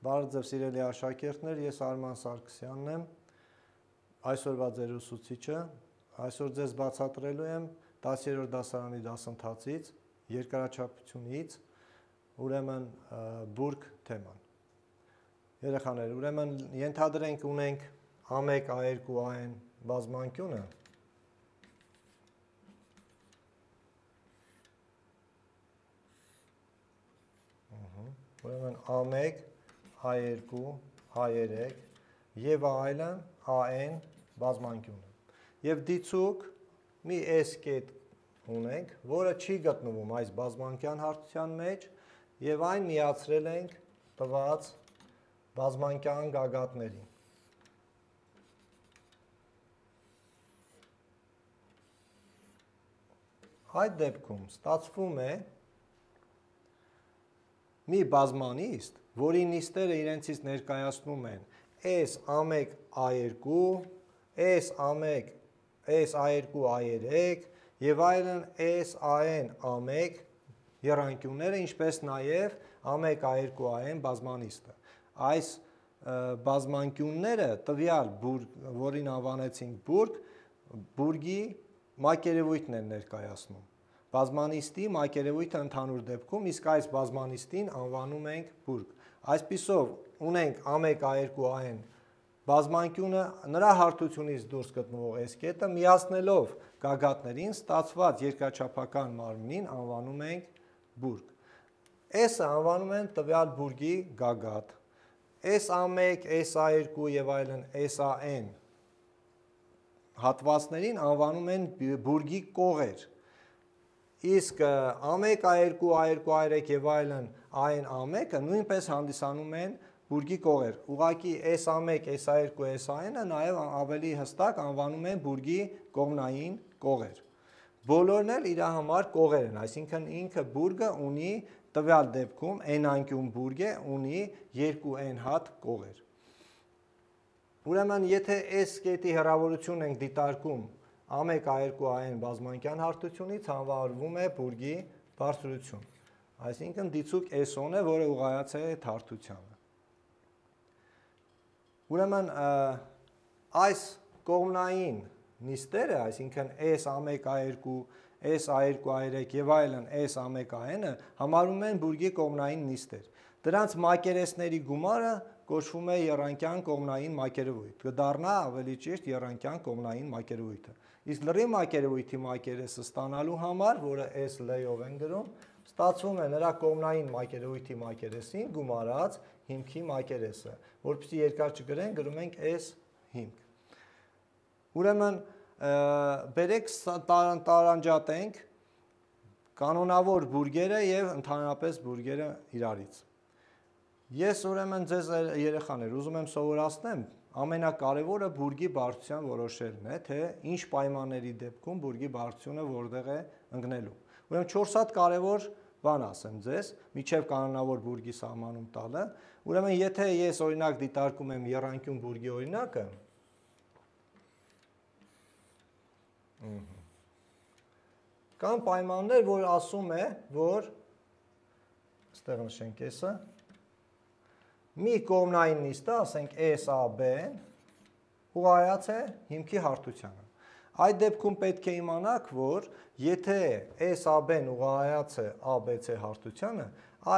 Բարև ձեզ սիրելի աշակերտներ, ես Արման Սարգսյանն եմ, այսօրվա ձեր ուսուցիչը, այսօր ձեզ բացատրելու եմ 10-րդ դասարանի դասընթացից, երկարաչափությունից, ուրեմն բուրգ թեման։ Երեխաներ, ուրեմն ենթադրենք ունենք A1, A2, AN բազմանկյունը, ուրեմն A1, A2, A3 և այլն AN բազմանկյունը։ Եվ դիցուկ մի S կետ ունենք, որը չի գտնվում այս բազմանկյան հարթության մեջ և այն միացրել ենք տված բազմանկյան գագաթներին։ Այդ դեպքում ստացվում է մի բազմանիստ, որի նիստերը իրենցից ներկայացնում են S1, A2, S1, S2, A3 և այլն SAN, A1 եռանկյունները, ինչպես նաև A1, A2, AN բազմանիստը։ Այս բազմանկյունները տվյալ բուրգ, որին անվանեցինք բուրգ, բուրգի մակերևույթն են ներկայացնում։ Բազմանիստի մակերևույթը ընդհանուր դեպքում, իսկ այս բազմանիստին անվանում ենք բուրգ։ Այսպիսով ունենք A1, A2, AN բազմանկյունը, նրա հարթությունից դուրս գտնվող S կետը միացնելով գագաթներին ստացված երկրաչափական մարմնին անվանում ենք բուրգ։ S-ը անվանում են տվյալ բուրգի գագաթ, S1, S2 և այլն SAN հատվածներին անվանում են բուրգի կողեր, իսկ A1, A2, A2, A3 և այլն AN, A1-ը նույնպես հանդիսանում են բուրգի կողեր, ուղղակի S1, S2, SAN-ը նաև ավելի հստակ անվանում են բուրգի կողմնային կողեր։ Բոլորն էլ իր համար կողեր են, այսինքն ինքը բուրգը ունի տվյալ դեպքում N-անկյուն բուրգ է, ունի 2N հատ կողեր։ Ուրեմն, եթե S կետի հեռավորությունն ենք դիտարկում A1, A2, AN բազմանկյան հարթությունից, անվանվում է բուրգի բարձրություն, այսինքն դիցուկ S-ն է, որը ուղղայած է այդ հարթությանը։ Ուրեմն, այս կողմնային նիստերը, այսինքն S1, A2, S2, A3 և այլն S1, AN-ը համարվում են բուրգի կողմնային նիստեր։ Դրանց մակերեսների գումարը կոչվում է եռանկյան կողմնային մակերևույթ, կդառնա ավելի ճիշտ եռանկյան կողմնային մակերևույթը։ Իսկ լրի մակերևույթի մակերեսը ստանալու համար, որը S L-ով են գրում, ստացվում է նրա կողմնային մակերևույթի մակերեսին գումարած հիմքի մակերեսը, որպեսզի երկար չգրենք, գրում ենք S հիմք։ Ուրեմն, բերեք տարանջատենք կանոնավոր բուրգերը և ընդհանրապես բուրգերը իրարից։ Ես ուրեմն ձեզ երեխաներ ուզում եմ սովորացնեմ, ամենակարևորը բուրգի բարձրության որոշելն է, թե ինչ պայմանների դեպքում բուրգի բարձրությունը որտեղ է ընկնելու։ Ուրեմն 4 հատ կարևոր բան ասեմ ձեզ, մինչև կանոնավոր բուրգի սահմանում տալը։ Ուրեմն, եթե ես օրինակ դիտարկում եմ եռանկյուն բուրգի օրինակը, կան պայմաններ, որ ասում է, որ այստեղ նշենք S-ը, մի կողմնային նիստը, ասենք SAB-ն, ուղղայած է հիմքի հարթությանը։ Այդ դեպքում պետք է իմանաք, որ եթե SAB-ն ուղղայած է ABC հարթությանը,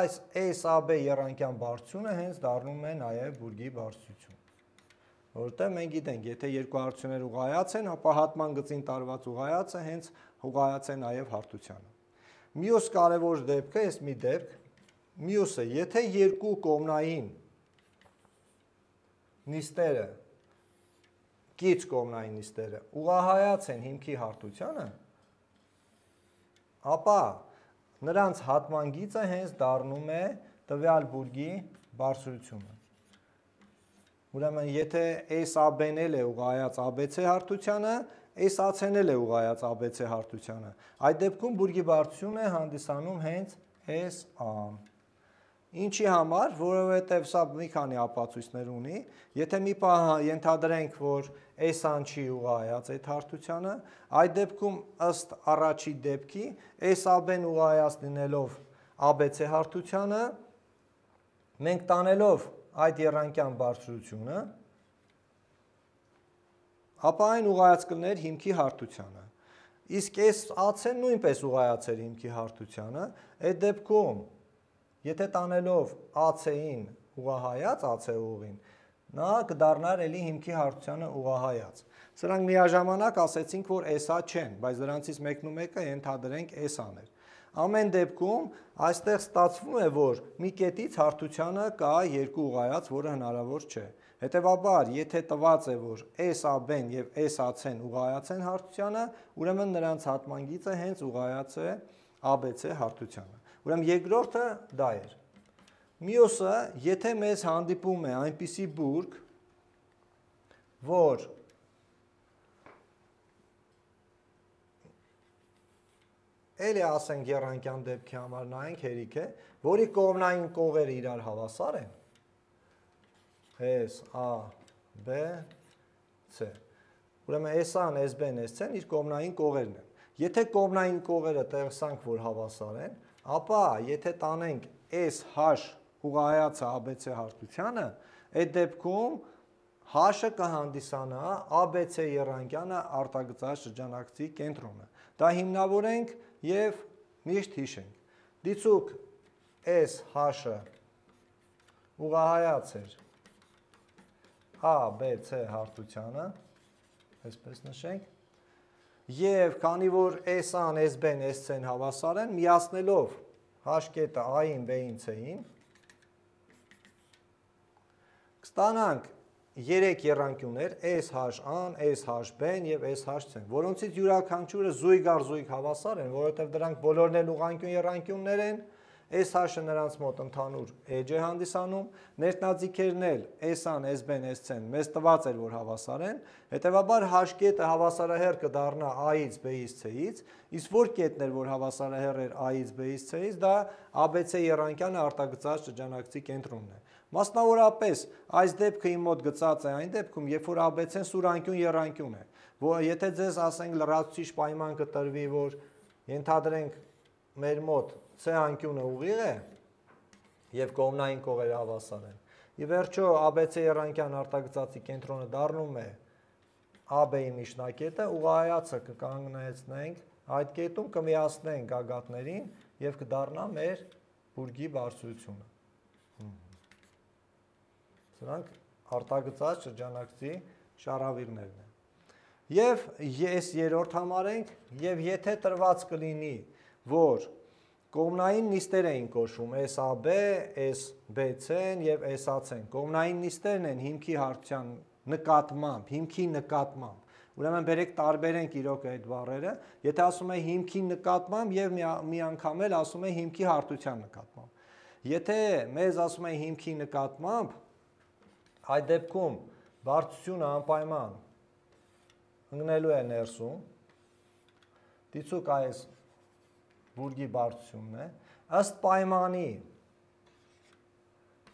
այս SAB եռանկյան բարձրությունը հենց դառնում է նաև բուրգի բարձրություն։ Որտեղ մենք գիտենք, եթե երկու հարթություններ ուղղայած են, ապա հատման գծին տարված ուղղայածը հենց ուղղայած է նաև հարթությանը։ Մյուս կարևոր դեպքը, այս մի դեպք, մյուսը, եթե երկու կողմնային նիստերը, կից կողմնային նիստերը ուղղահայաց են հիմքի հարթությանը, ապա նրանց հատման գիծը հենց դառնում է տվյալ բուրգի բարձրությունը։ Ուրեմն, եթե SAB-ն է ուղղայած ABC հարթությանը, SAC-ն է ուղղայած ABC հարթությանը, այդ դեպքում բուրգի բարձրությունը է հանդիսանում հենց SA-ն։ Ինչի համար, որովհետև սա մի քանի ապացույցներ ունի, եթե մի պահ ենթադրենք, որ S-ն չի ուղղայած այդ հարթությանը, այդ դեպքում ըստ առաջի դեպքի SAB-ն ուղղայած լինելով ABC հարթությանը, մենք տանելով այդ եռանկյան բարձրությունը, ապա այն ուղղայած կլներ հիմքի հարթությանը։ Իսկ այս AC-ն նույնպես ուղղայացեր հիմքի հարթությանը, այդ դեպքում, եթե տանելով AC-ին ուղղահայաց AC ուղին, նա կդառնար էլի հիմքի հարթությանը ուղղահայաց։ Սրանք միաժամանակ ասեցինք, որ SA չեն, բայց դրանցից մեկն ու մեկը ենթադրենք SA-ն էր։ Ամեն դեպքում այստեղ ստացվում է, որ մի կետից հարթությանը կա երկու ուղղայաց, որը հնարավոր չէ։ Հետևաբար, եթե տված է, որ SAB-ն եւ SAC-ն ուղղայաց են հարթությանը, ուրեմն նրանց հատման գիծը հենց ուղղայաց է ABC հարթությանը։ Ուրեմն երկրորդը դա էր։ Մյուսը, եթե մեզ հանդիպում է այնպիսի բուրգ, որ էլի ասենք եռանկյան դեպքի համար նայենք հերիք է, որի կողմնային կողերը իրար հավասար են, S, A, B, C։ Ուրեմն S-ն, S-B-ն, S-ն իր կողմնային կողերն են։ Եթե կողմնային կողերը տեսանք, որ հավասար են, ապա եթե տանենք SH ուղղայացը ABC հարթությանը, այդ դեպքում H-ը կհանդիսանա ABC եռանկյանը արտագծած շրջանակցի կենտրոնը։ Դա հիմնավորենք և միշտ հիշենք։ Դիցուք SH-ը ուղղահայաց էր ABC հարթությանը, այսպես նշենք, և քանի որ S-ն, S-B-ն, S-C-ն հավասար են, միացնելով H կետը A-ին, B-ին, C-ին, կստանանք 3 եռանկյուններ SH-ն, SH-B-ն և SH-C-ն, որոնցից յուրաքանչյուրը զույգ առ զույգ հավասար են, որովհետև դրանք բոլորն էլ ուղղանկյուն եռանկյուններ են, SH-ը նրանց մոտ ընդհանուր էջ է հանդիսանում, ներտնաձիգերն էլ S-ն, S-B-ն, S-C-ն մեզ տված էր, որ հավասար են, հետևաբար H կետը հավասարահեռ կդառնա A-ից, B-ից, C-ից, իսկ որ կետն էր, որ հավասարահեռ էր A-ից, B-ից, C-ից, դա ABC եռանկյանը արտագծած շրջանակցի կենտրոնն է։ Մասնավորապես, այս դեպքը իմ մոտ գծած է այն դեպքում, երբ որ ABC-ն սուրանկյուն եռանկյուն է, որ եթե ձեզ ասենք լրացուցիչ պայման կտրվի, որ ենթադրենք մեր մոտ C անկյունը ուղիղ է և կողմնային կողերը հավասար են։ Ի վերջո ABC եռանկյան արտագծածի կենտրոնը դառնում է AB-ի միջնակետը, ուղղահայացը կկանգնեցնենք այդ կետում, կմիացնենք գագաթներին և կդառնա մեր բուրգի բարձրությունը։ Սրանք արտագծած շրջանակցի շարավիռներն են։ Եվ ես երրորդ համարենք, և եթե տրված կլինի, որ կողմնային նիստեր էին կոչվում SAB, SBC-ն և SAC-ն, կողմնային նիստերն են հիմքի հարթության նկատմամբ, հիմքի նկատմամբ, ուրեմն բերեք տարբերենք իրոք այդ բառերը, եթե ասում է հիմքի նկատմամբ և մի անգամ էլ ասում է հիմքի հարթության նկատմամբ։ Եթե մեզ ասում է հիմքի նկատմամբ, այդ դեպքում բարձրությունը անպայման ընկնելու է ներսում, դիցուք այս բուրգի բարձրությունն է, ըստ պայմանի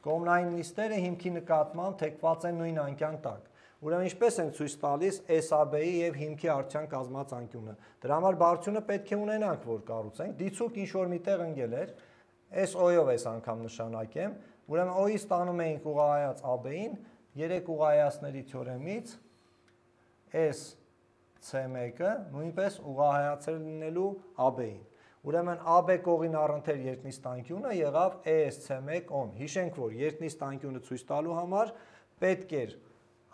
կողմնային նիստերը հիմքի նկատմամբ թեքված են նույն անկյան տակ։ Ուրեմն ինչպես են ցույց տալիս SAB-ի և հիմքի արդյան կազմած անկյունը։ Դրա համար բարձրությունը պետք է ունենանք, որ կառուցենք, դիցուք ինչ-որ միտեղ ընկել էր, այս O-ով այս անգամ նշանակեմ, ուրեմն O-ից տանում էինք ուղղահայաց AB-ին, 3 ուղղահայացների թեորեմից SC1-ը նույնպես ուղղահայացել լինելու AB-ին։ Ուրեմն AB կողին առընթեր երկնիստ անկյունը եղավ ESC1-on։ Հիշենք, որ երկնիստ անկյունը ցույց տալու համար պետք էր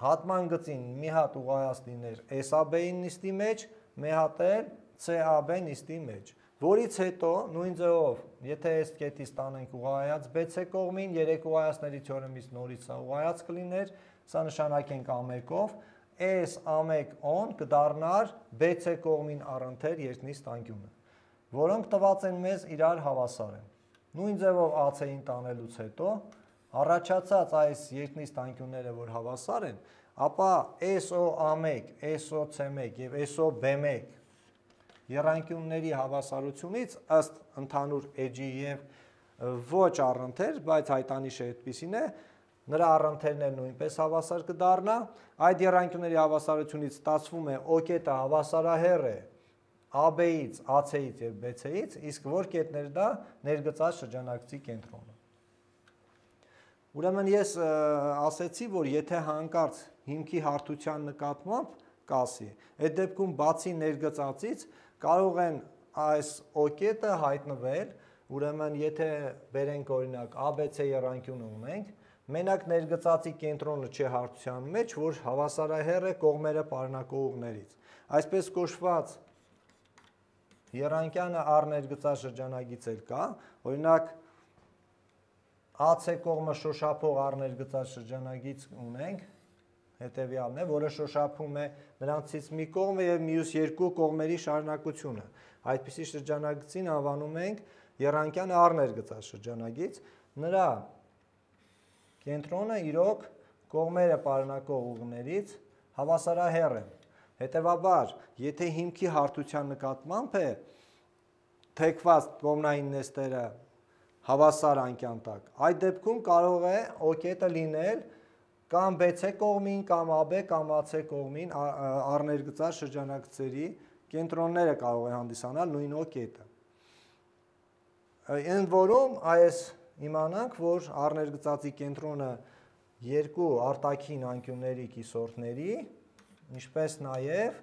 հատման գծին մի հատ ուղղահայաց լիներ SAB-ի նիստի մեջ, մի հատ էլ CAB նիստի մեջ, որից հետո նույն ձևով, եթե այս կետից տանենք ուղղահայաց BC կողմին, 3 ուղղահայացների թեորեմից նորից սա ուղղահայաց կլիներ, սա նշանակենք A1-ով, S-A1-on կդառնար BC կողմին առընթեր երկնիստ անկյունը, որոնք տված են մեզ իրար հավասար են։ Նույն ձևով AC-ին տանելուց հետո, առաջացած այս երկնիստ անկյունները, որ հավասար են, ապա SO-A1, SO-C1 և SO-B1 եռանկյունների հավասարությունից ըստ ընդհանուր էջի և ոչ առընթեր, բայց հայտանիշը այդպիսին է, նրա առընթերն էլ նույնպես հավասար կդառնա, այդ եռանկյունների հավասարությունից ստացվում է O կետը հավասարահեռ է AB-ից, AC-ից և BC-ից, իսկ որ կետն էր դա ներգծած շրջանակցի կենտրոնը։ Ուրեմն ես ասեցի, որ եթե հանկարծ հիմքի հարթության նկատմամբ կասի, այդ դեպքում բացի ներգծածից կարող են այս օկետը հայտնվել, ուրեմն եթե բերենք օրինակ ABC եռանկյունը ունենք, մենակ ներգծածի կենտրոնը չէ հարթության մեջ, որ հավասարահեռ է կողմերը պարունակող ուղներից։ Այսպես կոչված եռանկյանը R ներգծած շրջանագիծ էլ կա, օրինակ AC կողմը շոշափող R ներգծած շրջանագիծ ունենք, հետևյալն է, որը շոշափում է նրանցից մի կողմը եւ մյուս երկու կողմերի շարունակությունը։ Այդպիսի շրջանագծին անվանում ենք եռանկյանը R ներգծած շրջանագիծ, նրա կենտրոնը իրոք կողմերը պարունակող ուղներից հավասարահեռ են։ Հետևաբար, եթե հիմքի հարթության նկատմամբ է թեքված կողմնային նեստերը հավասար անկյան տակ, այդ դեպքում կարող է օկետը լինել կամ BC կողմին, կամ AB կամ AC կողմին R ներգծած շրջանագծերի կենտրոնները կարող է հանդիսանալ նույն օկետը։ Ընդ որում այս իմանանք, որ R ներգծածի կենտրոնը երկու արտաքին անկյունների կիսորդների, ինչպես նաև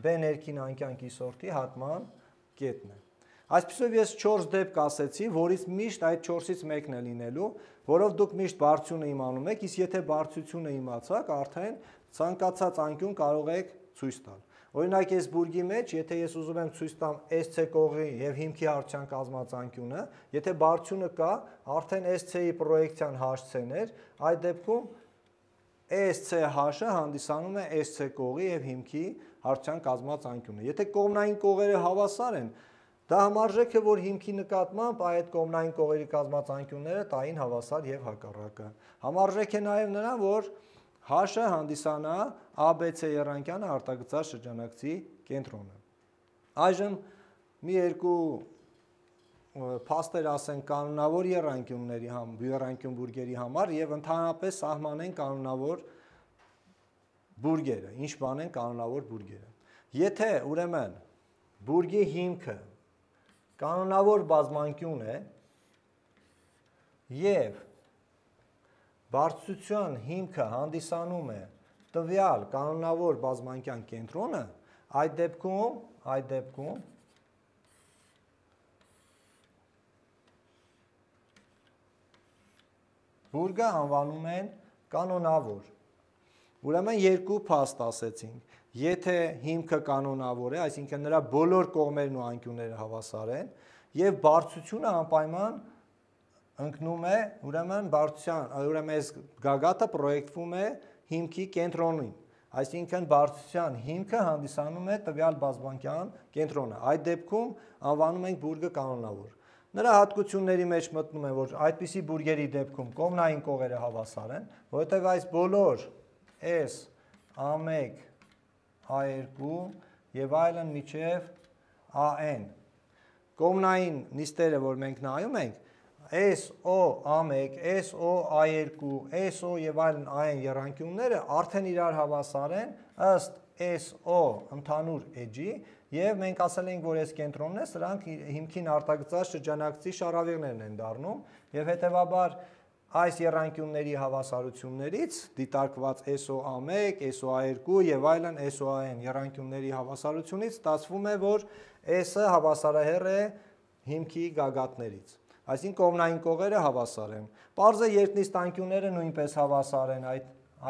B ներքին անկյան կիսորդի հատման կետն է։ Այսպիսով ես 4 դեպք ասեցի, որից միշտ այդ 4-ից մեկն է լինելու, որով դուք միշտ բարձրությունը իմանում եք, իսկ եթե բարձրությունը իմացաք, արդեն ցանկացած անկյուն կարող եք ցույց տալ։ Օրինակ այս բուրգի մեջ, եթե ես ուզում եմ ցույց տամ SC կողմի եւ հիմքի հարթության կազմած անկյունը, եթե բարձրությունը կա, արդեն SC-ի պրոյեկցիան HC-ներ, այդ դեպքում SCH-ը հանդիսանում է SC կողմի եւ հիմքի հարթության կազմած անկյունը։ Եթե կողմնային կողերը հավասար են, դա համարժեք է, որ հիմքի նկատմամբ այդ կողմնային կողերի կազմած անկյունները տային հավասար եւ հակառակը։ Համարժեք է նաեւ նրան, որ H-ը հանդիսանա ABC եռանկյանը արտագծած շրջանագծի կենտրոնը։ Այժմ մի երկու փաստեր ասենք կանոնավոր եռանկյուն բուրգերի համար եւ ընդհանրապես սահմանեն կանոնավոր բուրգերը։ Ինչ բան են կանոնավոր բուրգերը։ Եթե ուրեմն բուրգի հիմքը կանոնավոր բազմանկյուն է եւ բարձրության հիմքը հանդիսանում է տվյալ կանոնավոր բազմանկյան կենտրոնը, այդ դեպքում բուրգը անվանում են կանոնավոր։ Ուրեմն երկու փաստ ասեցինք։ Եթե հիմքը կանոնավոր է, այսինքն նրա բոլոր կողմերն ու անկյունները հավասար են, եւ բարձրությունը անպայման ընկնում է, ուրեմն այս գագաթը պրոյեկտվում է հիմքի կենտրոնին, այսինքն բարձրության հիմքը հանդիսանում է տվյալ բազմանկյան կենտրոնը։ Այդ դեպքում անվանում ենք բուրգը կանոնավոր։ Նրա հատկությունների մեջ մտնում է, որ այդպիսի բուրգերի դեպքում կողմնային կողերը հավասար են, որովհետև այս բոլոր S, A1, A2 եւ այլն միջև AN կողմնային նիստերը, որ մենք նայում ենք, SO A1, SO A2, SO եւ այլն AN եռանկյունները արդեն իրար հավասար են ըստ SO ընդհանուր էջի եւ մենք ասել ենք, որ այս կենտրոնն է, սրանք հիմքին արտագծած շրջանագծի շարավիղներն են դառնում եւ հետեւաբար այս եռանկյունների հավասարություններից դիտարկված SO1, SO2 եւ այլն SOAN եռանկյունների հավասարությունից ստացվում է, որ S-ը հավասարահեռ է հիմքի գագաթներից։ Այսինքն կողմնային կողերը հավասար են։ Պարզ է երկնիստ անկյունները նույնպես հավասար են,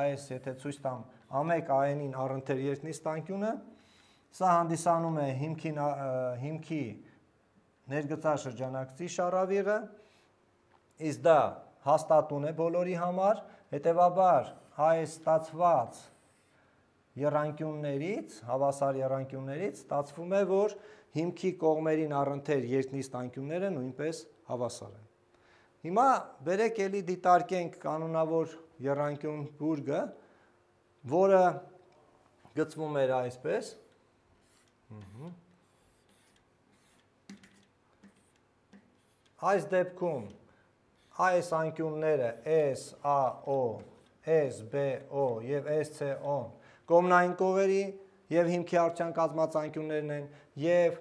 այս եթե ցույց տամ A1 AN-ին առընթեր երկնիստ անկյունը, սա հանդիսանում է հիմքի ներգծած շրջանագծի շարավիղը, իսկ դա հաստատուն է բոլորի համար, հետևաբար այս ստացված եռանկյուններից, հավասար եռանկյուններից ստացվում է, որ հիմքի կողմերին առընթեր երկնիստ անկյունները նույնպես հավասար են։ Հիմա բերեք էլի դիտարկենք կանոնավոր եռանկյուն բուրգը, որը գծվում էր այսպես։ Այս դեպքում այս անկյունները SAO, SBO եւ SCO կողմնային կողերի եւ հիմքի արդյունք կազմած անկյուններն են եւ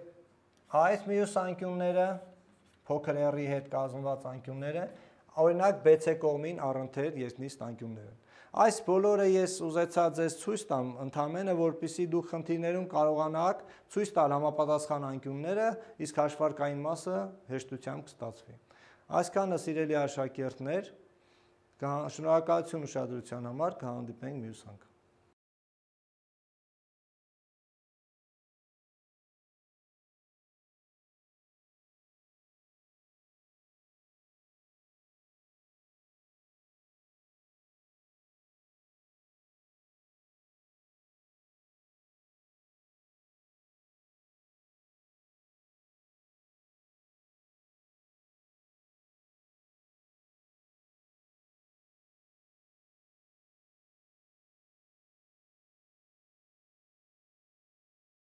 այս մյուս անկյունները փոքր r-ի հետ կազմված անկյունները օրինակ BC կողմին առընթեր երկնիստ անկյուններ են։ Այս բոլորը ես ուզեցա ձեզ ցույց տամ, ընդհանրապես որպեսզի դուք խնդիրներում կարողանաք ցույց տալ համապատասխան անկյունները, իսկ հաշվարկային մասը հեշտությամբ կստացվի։ Այսքանը սիրելի աշակերտներ, շնորհակալություն ուշադրության համար, կհանդիպենք մյուս անգամ։